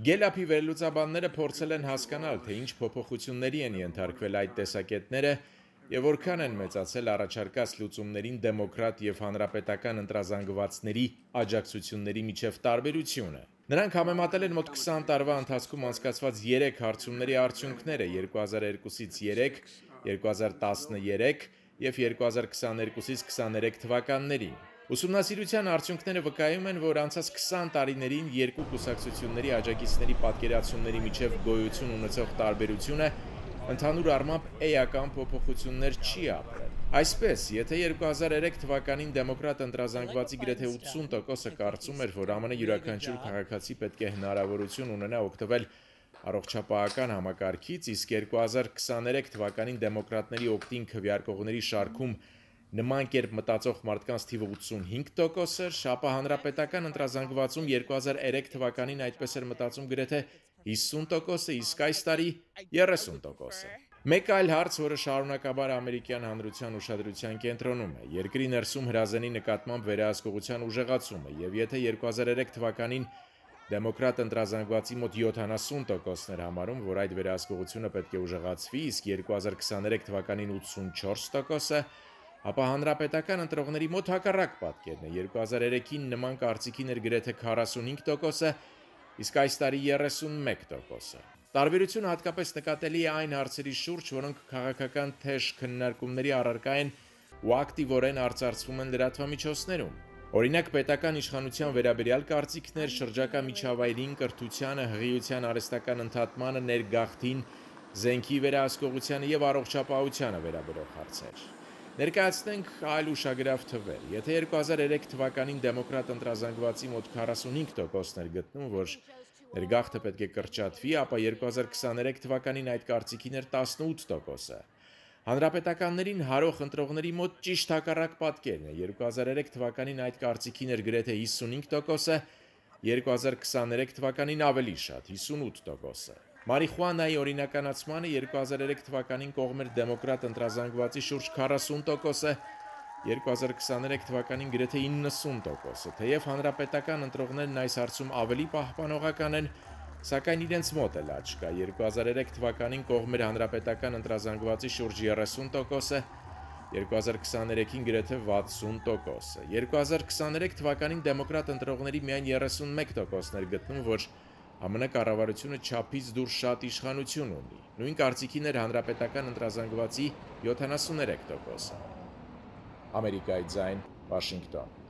Գելափի վերլուծաբանները փորձել են հասկանալ, թե ինչ փոփոխությունների են ենթարկվել այդ տեսակետները եւ որքան են մեծացել առաջարկած լուծումներին դեմոկրատ եւ հանրապետական ընտրազանգվածների աջակցությունների միջև տարբերությունը։ Նրանք համեմատել են մոտ 20 տարվա ընթացքում անցկացված 3 հարցումների արդյունքները 2002-ից 3, 2013 եւ 2022-ից 23 թվականներին։ Ուսումնասիրության արդյունքները վկայում են, որ անցած 20 տարիներին երկու կուսակցությունների աջակիցների պատկերացումների միջև գոյություն ունեցող տարբերությունը ընդհանուր առմամբ էական փոփոխություններ չի ապրել։ Այսպես, եթե 2003 թվականին դեմոկրատ ընտրազանգվածի գրեթե 80%-ը կարծում էր, որ ԱՄՆ յուրաքանչյուր քաղաքացի պետք է հնարավորություն ունենա օգտվել առողջապահական համակարգից, իսկ 2023 թվականին դեմոկրատների օգտին քվեարկողների շարքում նման կերպ մտածող մարդկանց թիվը 85% էր, ապա հանրապետական ընտրազանգվածում 2003 թվականին այդպես էր մտածում գրեթե 50%-ը, իսկ այս տարի 30%-ը։ Մեկ այլ հարց, որը շարունակաբար ամերիկյան հանրության ուշադրության կենտրոնում է, երկրի ներսում հրազենի նկատմամբ վերահսկողության ուժեղացումը, եւ եթե 2003 թվականին դեմոկրատ ընտրազանգվածի մոտ 70%-ն էր համարում, որ այդ վերահսկողությունը պետք է ուժեղացվի, իսկ 2023 թվականին 84%-ը, ապա հանրապետական ընտրողների մոտ հակառակ պատկերն է։ 2003-ին նման կարծիքին էր գրեթե 45%-ը, իսկ այս տարի 31%-ը։ Տարբերությունը հատկապես նկատելի է այն հարցերի շուրջ, որոնք քաղաքական թեժ քննարկումների առարկա են ու ակտիվորեն արծարծվում են լրատվամիջոցներում։ Օրինակ, պետական իշխանության վերաբերյալ կարծիքներ, շրջակա միջավայրին, կրթությանը, հղիության արհեստական ընդհատմանը, ներգաղթին, զենքի վերահսկողությանը եւ առողջապահությանը վերաբերող հարցեր։ Ներկայացնենք այլ ուշագրավ թվեր։ Եթե 2003 թվականին դեմոկրատ ընտրազանգվածի մոտ 45%-ն էր գտնում, որ ներգաղթը պետք է կրճատվի, ապա 2023 թվականին այդ կարծիքին էր 18%-ը։ Հանրապետականներին հարող ընտրողների մոտ ճիշտ հակառակ պատկերն է։ 2003 թվականին այդ կարծիքին էր գրեթե 55%-ը, 2023 թվականին ավելի շատ 58%-ը։ Մարիխուանայի օրինականացմանը 2003 թվականին կողմ էր դեմոկրատ ընտրազանգվածի շուրջ 40%-ը, 2023 թվականին գրեթե 90%-ը։ Թեև հանրապետական ընտրողներն այս հարցում ավելի պահպանողական են, սակայն իրենց մոտ էլ աճ կա։ 2003 թվականին կողմ էր հանրապետական ընտրազանգվածի շուրջ 30%-ը, 2023-ին գրեթե 60%-ը։ 2023 թվականին դեմոկրատ ընտրողների միայն 31%-ն էր գտնում, որ ԱՄՆ կառավարությունը չափից դուրս շատ իշխանություն ունի։ Նույն կարծիքին էր հանրապետական ընտրազանգվածի 73%-ը։ Ամերիկայի ձայն, Վաշինգտոն։